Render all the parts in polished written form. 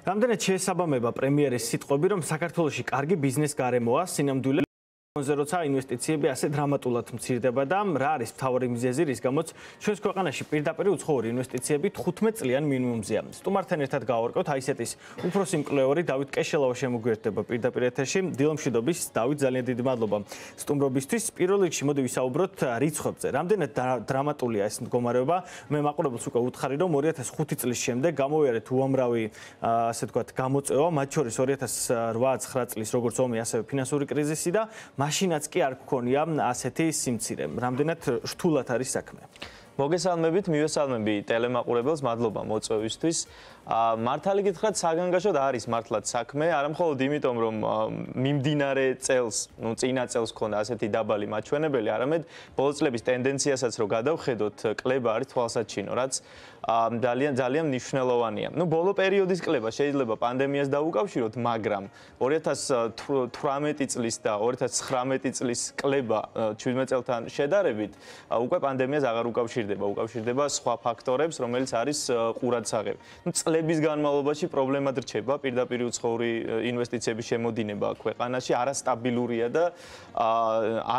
რამდენად შეესაბამება პრემიერის სიტყვები, რომ საქართველოში კარგი ბიზნეს გარემოა, სინამდვილე როცა ინვესტიციები ასე დრამატულად მცირდება და რა არის მთავარი მიზეზი, რის გამოც ჩვენს ქვეყანაში პირდაპირ უცხოური ინვესტიციები 15 წლიან მინიმუმზეა. სტუმართან ერთად გავარკვევთ აისეტის უფროსი მკვლევარი დავით კეშელავა შემოგვიერთდება პირდაპირ ეთერში. დილომშვიდობის, დავით, ძალიან დიდი მადლობა სტუმრობისთვის. პირველ რიგში მოდი ვისაუბროთ რიცხვებზე. რამდენად დრამატულია ეს მდგომარეობა? მე მაყურებელს უკვე უთხარი, რომ 2005 წლის შემდეგ გამოვიარეთ უამრავი ასე ვთქვათ გამოწვევა, მათ შორის 2008-9 წლის როგორც ომი, ასევე ფინანსური კრიზისი და მაშინაც კი არ გქონია ასეთი სიმცირე. რამდენად რთულად არის საქმე? მოგესალმებით, მივესალმები ტელემაყურებელს, მადლობა მოწვევისთვის. მართალი გითხრათ, საგანგაშოდ არის მართლაც საქმე, არამხოლოდ იმიტომ, რომ მიმდინარე წელს, წინა წელს ქონდა ასეთი დაბალი მაჩვენებელი, არამედ ბოლო წლების ტენდენციასაც რო გადავხედოთ, კლება არის თვალსაჩინო, რაც ძალიან მნიშვნელოვანია. ბოლო პერიოდის კლება შეიძლება პანდემიას დაუკავშიროთ, მაგრამ 2018 წლის და 2019 წლის კლება 17 წელთან შედარებით უკვე პანდემიას აღარ უკავშირდება სხვა ფაქტორებს, რომელიც არის ყურადსაღები. წლების განმავლობაში პრობლემად რჩება პირდაპირ უცხოური ინვესტიციების შემოდინება ქვეყანაში, არასტაბილურია და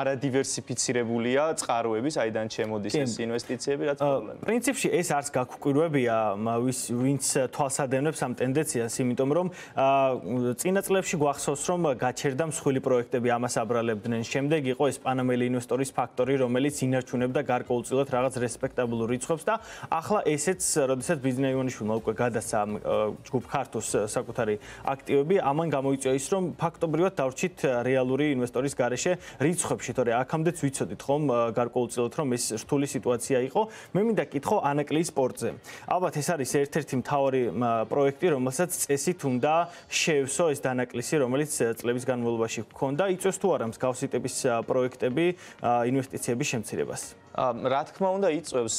არადივერსიფიცირებულია წყაროები, საიდან შემოდის ეს ინვესტიციები, რაც პრობლემაა. პრინციპში ეს არც გაგუკვირვებია ვინც თვალსადევნებს ამ ტენდენციას, იმიტომ რომ წინა წლებში გვახსოვს, რომ გაჩერდა მსხვილი პროექტები, ამას აბრალებდნენ. შემდეგ იყო ეს პანამელი ინვესტორის ფაქტორი, რომელიც ინარჩუნებდა გარკვეულწილად რაღაც რესპექტაბულურ რიცხვებს და ახლა ესეც, როდესაც ბიზნეს ივანიშვილმა უკვე გადასცა ჯგუფ ქართოს საკუთარი აქტივები, ამან გამოიწვია ის, რომ ფაქტობრივად დავრჩით რეალური ინვესტორის გარეშე რიცხვებში, თორე აქამდეც ვიცოდით ხომ გარკვეულწილად, რომ ეს რთული სიტუაცია იყო. მე მინდა კითხო ანაკლიის სპორტზე. ალბათ ეს არის ერთ-ერთი მთავარი პროექტი, რომელსაც წესით უნდა შეევსო ეს დანაკლისი, რომელიც წლების განმავლობაში ჰქონდა. იწვევს თუ არა მსგავსი ტიპის პროექტები ინვესტიციების შემცირებას? რა თქმა უნდა იწვევს.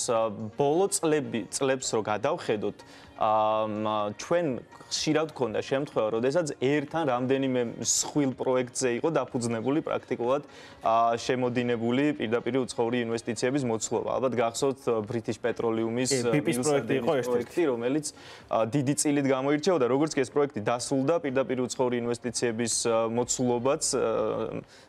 ბოლო წლებს რო გადავხედოთ, ჩვენ ხშირად გქონდა შემთხვევა, როდესაც ერთთან რამდენიმე მსხვილ პროექტზე იყო დაფუძნებული პრაქტიკულად შემოდინებული პირდაპირ უცხოური ინვესტიციების მოცულობა. ალბათ გახსოვთ British Petroleum-ის პროექტი, რომელიც დიდი წილით გამოირჩეოდა, როგორც კი ეს პროექტი დასრულდა, პირდაპირ უცხოური ინვესტიციების მოცულობაც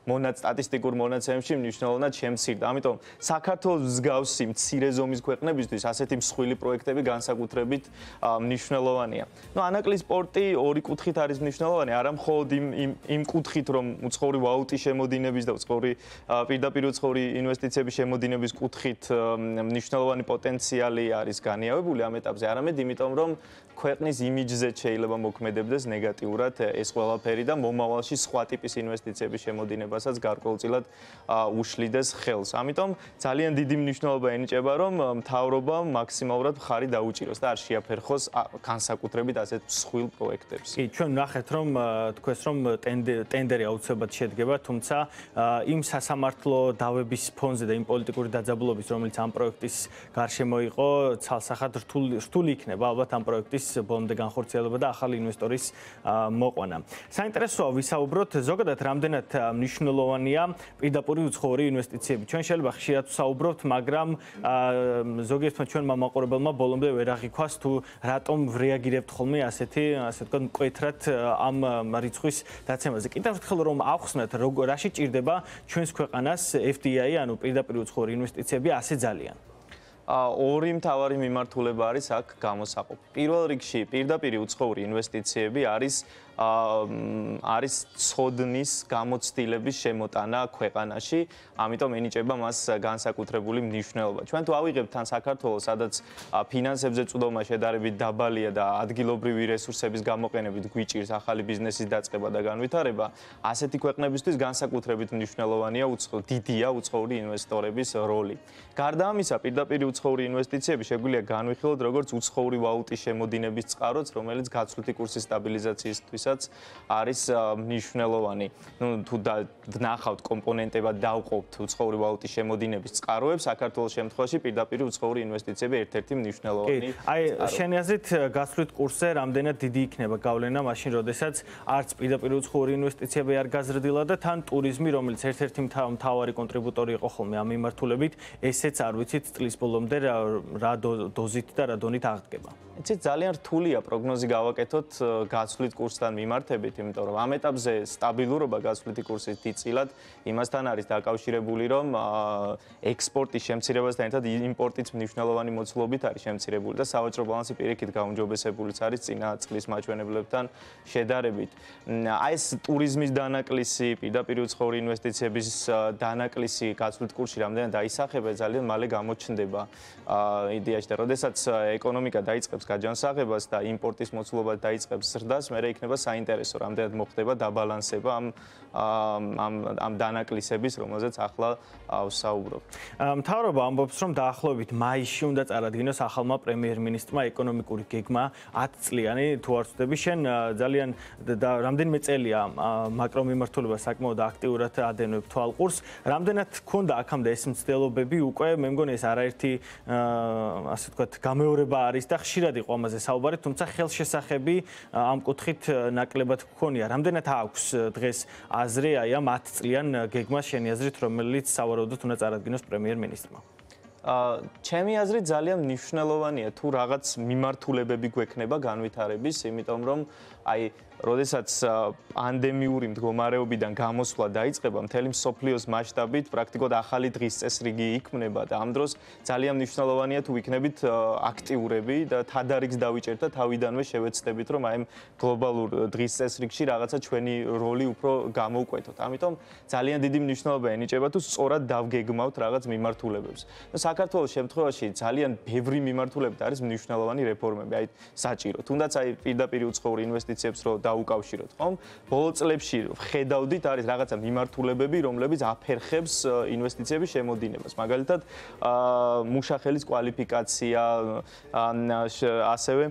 სტატისტიკურ მონაცემებში მნიშვნელოვნად შემცირდა. ამიტომ საქართველოს მსგავსი მცირე ზომის ქვეყნებისთვის ასეთი მსხვილი პროექტები განსაკუთრებით მნიშვნელოვანია. ანაკლიის სპორტი ორი კუთხით არის მნიშვნელოვანი, არა მხოლოდ იმ კუთხით, რომ უცხოური ვალუტის შემოდინების და პირდაპირ უცხოური ინვესტიციების შემოდინების კუთხით მნიშვნელოვანი პოტენციალი არის განიავებული ამ ეტაპზე, არამედ იმიტომ, რომ ქვეყნის იმიჯზე შეიძლება მოქმედებდეს ნეგატიურად ეს ყველაფერი და მომავალში სხვა ტიპის ინვესტიციების შემოდინებასაც გარკვეულწილად უშლიდეს ხელს. ამიტომ ძალიან დიდი მნიშვნელობა ენიჭება, რომ მთავრობამ მაქსიმალურად მხარი დაუჭიროს და არ შეაფერხოს განსაკუთრებით ასეთ მსხვილ პროექტებს. კი, ჩვენ ნახეთ, რომ თქვენს რომ ტენდერი აუცილებლად შედგება, თუმცა იმ სასამართლო დავების ფონზე და იმ პოლიტიკური დაძაბულობის, რომელიც ამ პროექტის გარშემო იყო, ცალსახად რთული იქნება ალბათ ამ პროექტის ბოლომდე განხორციელება და ახალი ინვესტორის მოყვანა. საინტერესოა ვისაუბროთ ზოგადად რამდენად მნიშვნელოვანია პირდაპირ უცხოური ინვესტიციები. ჩვენ შეიძლება ხშირად ვსაუბრობთ, მაგრამ ზოგიერთმა ჩვენმა მაყურებელმა ბოლომდე ვერ აღიქვას თუ რატომ რეაგირებთ ხოლმე ასე ვთქვათ მკვეთრად ამ რიცხვის დაცემაზე. კიდევ ერთხელ რომ ავხსნათ, რაში ჭირდება ჩვენს ქვეყანას FDI, ანუ პირდაპირ უცხოური ინვესტიციები ასე ძალიან. ორი მთავარი მიმართულება არის აქ გამოსაყოფი. პირველ რიგში პირდაპირ უცხოური ინვესტიციები არის ცოდნის გამოცდილების შემოტანა ქვეყანაში, ამიტომ ენიჭება მას განსაკუთრებული მნიშვნელობა. ჩვენ თუ ავიღებთ თან საქართველოს, სადაც ფინანსებზე წვდომა შედარებით დაბალია და ადგილობრივი რესურსების გამოყენებით გვიჭირს ახალი ბიზნესის დაწყება და განვითარება, ასეთი ქვეყნებისთვის განსაკუთრებით მნიშვნელოვანია დიდია უცხოური ინვესტორების როლი. გარდა ამისა, პირდაპირ უცხოური ინვესტიციები შეგვიძლია განვიხილოთ როგორც უცხოური ვალუტის შემოდინების წყაროც, რომელიც გაცვლითი კურსის სტაბილიზაციისთვისაც არის მნიშვნელოვანი. თუ ვნახავთ კომპონენტებად დავყოფთ უცხოური ვალუტის შემოდინების წყაროებს, საქართველოს შემთხვევაში პირდაპირ უცხოური ინვესტიციები ერთ-ერთი მნიშვნელოვანი. აი, შენი აზრით გაცვლით კურსზე რამდენად დიდი იქნება გავლენა მაშინ, როდესაც არც პირდაპირ უცხოური ინვესტიციები არ გაზრდილა და თან ტურიზმი, რომელიც ერთ-ერთი მთავარი კონტრიბუტორი იყო ხოლმე ამ მიმართულებით, ესეც არ ვიცით წლის ბოლომდე ბოლომდე რა დოზით და რა დონით აღდგება? იცით, ძალიან რთულია პროგნოზი გავაკეთოთ გაცვლით კურსთან მიმართებით, იმიტომ რომ ამ ეტაპზე სტაბილურობა გაცვლითი კურსის დიდწილად იმასთან არის დაკავშირებული, რომ ექსპორტის შემცირებასთან ერთად იმპორტიც მნიშვნელოვანი მოცულობით არის შემცირებული და სავაჭრო ბალანსი პირიქით გაუმჯობესებულიც არის წინა წლის მაჩვენებლებთან შედარებით. აი ეს ტურიზმის დანაკლისი, პირდაპირ უცხოური ინვესტიციების დანაკლისი გაცვლით კურსში რამდენად დაისახება, ძალიან მალე გამოჩნდება იდეაში და როდესაც ეკონომიკა დაიწყებს გაჯანსაღებას და იმპორტის მოცულობა დაიწყებს ზრდას, მე იქნება საინტერესო, რამდენად მოხდება დაბალანსება ამ დანაკლისების, რომელზეც ახლა ვსაუბრობ. მთავრობა ამბობს, რომ დაახლოებით მაისში უნდა წარადგინოს ახალმა პრემიერ-მინისტრმა ეკონომიკური გეგმა 10 წლიანი, თუ არ ვცდები, შენ ძალიან რამდენიმე წელია მაკრომიმართულება საკმაოდ აქტიურად ადენებ თვალყურს. რამდენად გქონდა აქამდე ეს მცდელობები უკვე, მე მგონი ეს არაერთი ასე ვთქვათ, გამეორება არის და ხშირად იყო ამაზე საუბარი, თუმცა ხელშესახები ამ კუთხით ნაკლებად გქონია. რამდენად აქვს დღეს აზრი აი ამ 10 წლიან გეგმას შენი აზრით, რომელიც სავარაუდოდ უნდა წარადგინოს პრემიერ-მინისტრმა? ჩემი აზრით ძალიან მნიშვნელოვანია თუ რაღაც მიმართულებები გვექნება განვითარების, იმიტომ რომ აი როდესაც პანდემიური მდგომარეობიდან გამოსვლა დაიწყება, მთელი მსოფლიოს მასშტაბით პრაქტიკულად ახალი დღის წესრიგი იქმნება და ამ დროს ძალიან მნიშვნელოვანია თუ ვიქნებით აქტიურები და თადარიგს დავიჭერთ და თავიდანვე შევეცდებით, რომ აი გლობალურ დღის წესრიგში რაღაცა ჩვენი როლი უფრო გამოვკვეთოთ. ამიტომ ძალიან დიდი მნიშვნელობა ენიჭება თუ სწორად დავგეგმავთ რაღაც მიმართულებებს. საქართველოს შემთხვევაში ძალიან ბევრი მიმართულებით არის მნიშვნელოვანი რეფორმები, აი საჭირო. თუნდაც აი პირდაპირ უცხოური ინვესტიციებს რო დაუკავშიროთ, ხომ? ბოლო წლებში ხედავდით არის რაღაცა მიმართულებები, რომლებიც აფერხებს ინვესტიციების შემოდინებას. მაგალითად, მუშახელის კვალიფიკაცია, ასევე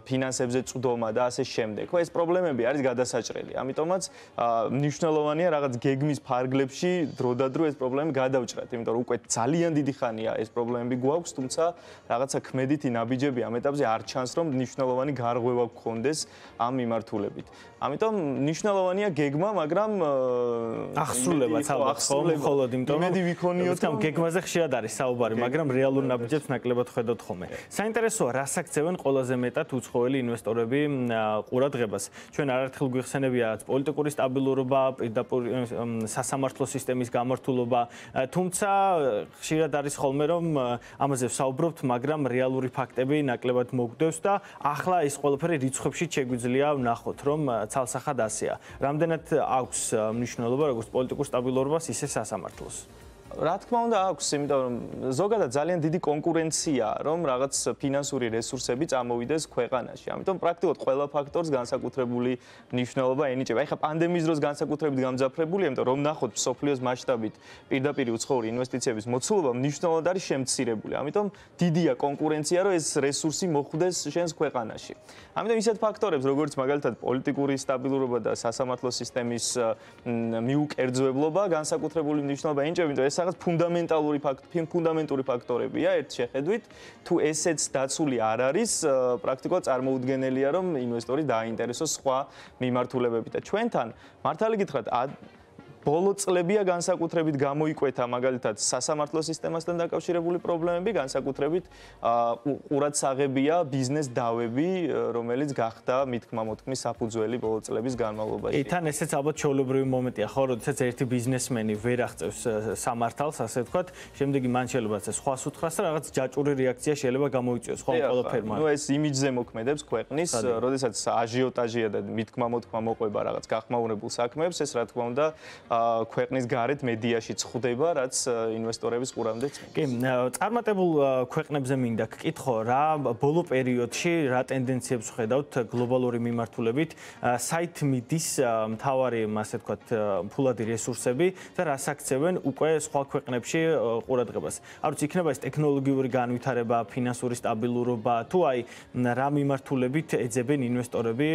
ფინანსებზე წვდომა და ასე შემდეგ. ხო, ეს პრობლემები არის გადასაჭრელი. ამიტომაც მნიშვნელოვანია რაღაც გეგმის ფარგლებში დროდადრო ეს პრობლემები გადავჭრათ, იმიტომ რომ უკვე ძალიან დიდი ხანია ეს პრობლემები გვაქვს, თუმცა რაღაცა ქმედითი ნაბიჯები ამ ეტაპზე არ ჩანს, რომ მნიშვნელოვანი გარღვევა გქონდეს ამ მიმართულებით. ამიტომ მნიშვნელოვანია გეგმა, მაგრამ ახსრულებაც ალბათ მხოლოდ იმიტომ იმედი ვიქონიოთ, რომ გეგმაზე ხშირად არის საუბარი, მაგრამ რეალურ ნაბიჯებს ნაკლებად ხედავთ ხოლმე. საინტერესოა, რას აქცევენ ყველაზე მეტად უცხოელი ინვესტორები ყურადღებას. ჩვენ არაერთხელ გვიხსენებია პოლიტიკური სტაბილურობა, პირდაპირ სასამართლო სისტემის გამართულობა, თუმცა ხშირად არის ხოლმე რომ ამაზე ვსაუბრობთ, მაგრამ რეალური ფაქტები ნაკლებად მოგდევს და ახლა ეს ყველაფერი რიცხვებში შეგვიძლია ვნახოთ, რომ ცალსახად ასეა. რამდენად აქვს მნიშვნელობა როგორც პოლიტიკურ სტაბილურობას, ისე სასამართლოს? რა თქმა უნდა აქვს, იმიტომ რომ ზოგადად ძალიან დიდი კონკურენციაა, რომ რაღაც ფინანსური რესურსები წამოვიდეს ქვეყანაში. ამიტომ პრაქტიკულად ყველა ფაქტორს განსაკუთრებული მნიშვნელობა ენიჭება. ეხლა პანდემიის დროს განსაკუთრებით გამძაფრებულია, იმიტომ რომ ნახოთ მსოფლიოს მასშტაბით პირდაპირ უცხოური ინვესტიციების მოცულობა მნიშვნელოვნად არის შემცირებული. ამიტომ დიდია კონკურენცია, რომ ეს რესურსი მოხვდეს შენს ქვეყანაში. ამიტომ ისეთ ფაქტორებს, როგორც მაგალითად პოლიტიკური სტაბილურობა და სასამართლო სისტემის მიუკერძოებლობა განსაკუთრებული მნიშვნელობა ენიჭება, იმიტომ ეს რაღაც ფუნდამენტური ფაქტორებია ერთ შეხედვით, თუ ესეც დაცული არ არის, პრაქტიკულად წარმოუდგენელია, რომ ინვესტორი დააინტერესოს სხვა მიმართულებებით და ჩვენთან მართალი გითხრათ ბოლო წლებია განსაკუთრებით გამოიკვეთა მაგალითად სასამართლო სისტემასთან დაკავშირებული პრობლემები, განსაკუთრებით ყურადსაღებია ბიზნეს დავები, რომელიც გახდა მითქმა-მოთქმის საფუძველი ბოლო წლების განმავლობაში. თან ესეც ალბათ ჩვეულებრივი მომენტია, ხო, როდესაც ერთი ბიზნესმენი ვერ აღწევს სამართალს, ასე ვთქვათ, შემდეგი მან შეიძლება სხვას უთხრას და რაღაც ჯაჭვური რეაქცია შეიძლება გამოიწვიოს ხომ ყველაფერმა. ნუ ეს იმიჯზე მოქმედებს ქვეყნის, როდესაც აჟიოტაჟია და მითქმა-მოთქმა მოყვება რაღაც გახმაურებულ საქმეებს, ეს რა თქმა უნდა ქვეყნის გარეთ მედიაში წხვდება, რაც ინვესტორების ყურამდეც. კი, წარმატებულ ქვეყნებზე მინდა გკითხო, რა ბოლო პერიოდში რა ტენდენციებს ხედავთ გლობალური მიმართულებით, საით მიდის მთავარი, ასე ვთქვათ, ფულადი რესურსები და რას აქცევენ უკვე სხვა ქვეყნებში ყურადღებას. არ ვიცი, იქნება ეს ტექნოლოგიური განვითარება, ფინანსური სტაბილურობა, თუ აი რა მიმართულებით ეძებენ ინვესტორები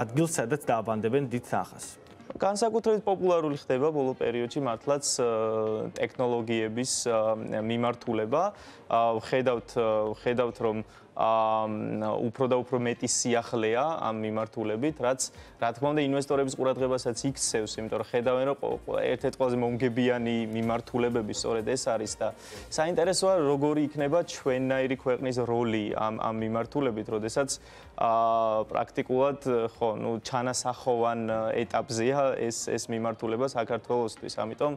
ადგილს, სადაც დააბანდებენ დიდ თანხას. განსაკუთრებით პოპულარული ხდება ბოლო პერიოდში მართლაც ტექნოლოგიების მიმართულება. ხედავთ რომ უფრო და უფრო მეტი სიახლეა ამ მიმართულებით, რაც რა თქმა უნდა ინვესტორების ყურადღებასაც იქცევს, იმიტომ რომ ხედავენ რომ ერთ-ერთი ყველაზე მომგებიანი მიმართულებები სწორედ ეს არის და საინტერესოა როგორი იქნება ჩვენნაირი ქვეყნის როლი ამ მიმართულებით, როდესაც პრაქტიკულად ხო, ჩანასახოვან ეტაპზეა ეს მიმართულება საქართველოსთვის. ამიტომ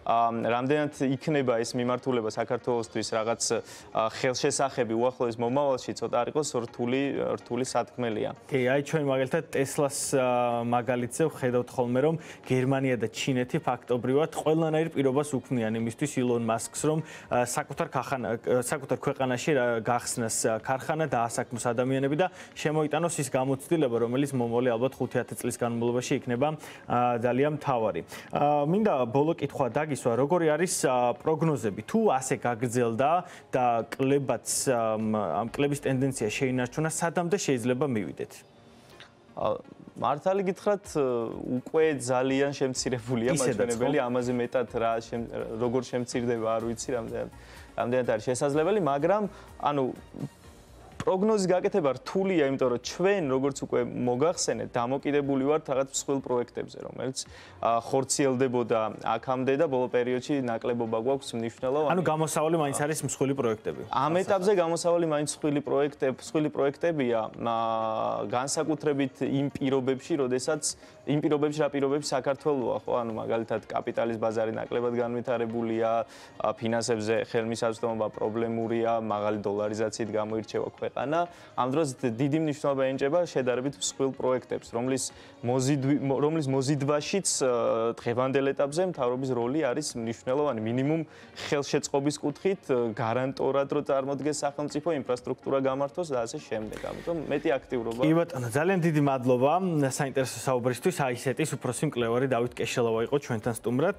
რამდენად იქნება ეს მიმართულება საქართველოსთვის რაღაც ხელშესახები უახლოეს მომავალში ცოტა არ იყოს რთული სათქმელია. კი, აი ჩვენ მაგალითად ტესლას მაგალითზე ვხედავთ ხოლმე რომ გერმანია და ჩინეთი ფაქტობრივად ყველანაირ პირობას უქმნიან იმისთვის ილონ მასკს რომ საკუთარ ქვეყანაში გახსნას ქარხანა და ასაქმოს ადამიანები და შემოიტანოს ის გამოცდილება რომელიც მომავალი ალბათ 5-10 წლის განმავლობაში იქნება ძალიან მთავარი. მინდა ბოლო კითხვა დაგისვა, როგორი არის პროგნოზები? თუ ასე გაგრძელდა და კლებაც ამ კლების ტენდენცია შეინარჩუნა, სადამდე შეიძლება მივიდეთ? მართალი გითხრათ, უკვე ძალიან შემცირებულია მაჩვენებელი, ამაზე მეტად როგორ შემცირდება, არ ვიცი, რამდენად არის შესაძლებელი, მაგრამ პროგნოზის გაკეთება რთულია, იმიტომ რომ ჩვენ როგორც უკვე მოგახსენეთ, დამოკიდებული ვართ რაღაც მსხვილ პროექტებზე, რომელიც ხორციელდებოდა აქამდე და ბოლო პერიოდში ნაკლებობა გვაქვს მნიშვნელოვანი. გამოსავალი მაინც არის მსხვილი პროექტები. ამ ეტაპზე გამოსავალი მაინც მსხვილი პროექტებია, განსაკუთრებით იმ პირობებში, რა პირობებში საქართველოა, ხო, მაგალითად კაპიტალის ბაზარი ნაკლებად განვითარებულია, ფინანსებზე ხელმისაწვდომობა პრობლემურია, მაღალი დოლარიზაციით გამოირჩევა ქვეყანა. ამ დროს დიდი მნიშვნელობა ენიჭება შედარებით მსხვილ პროექტებს, რომლის მოზიდვაშიც დღევანდელ ეტაპზე მთავრობის როლი არის მნიშვნელოვანი, მინიმუმ ხელშეწყობის კუთხით, გარანტორად რო წარმოდგეს სახელმწიფო ინფრასტრუქტურა გამართოს და ასე შემდეგ. ამიტომ მეტი აქტიურობა. კი ბატონო, ძალიან დიდი მადლობა საინტერესო საუბრისთვის. აი ესეთის უფროსი მკვლევარი დავით კეშელავა იყო ჩვენთან სტუმრად.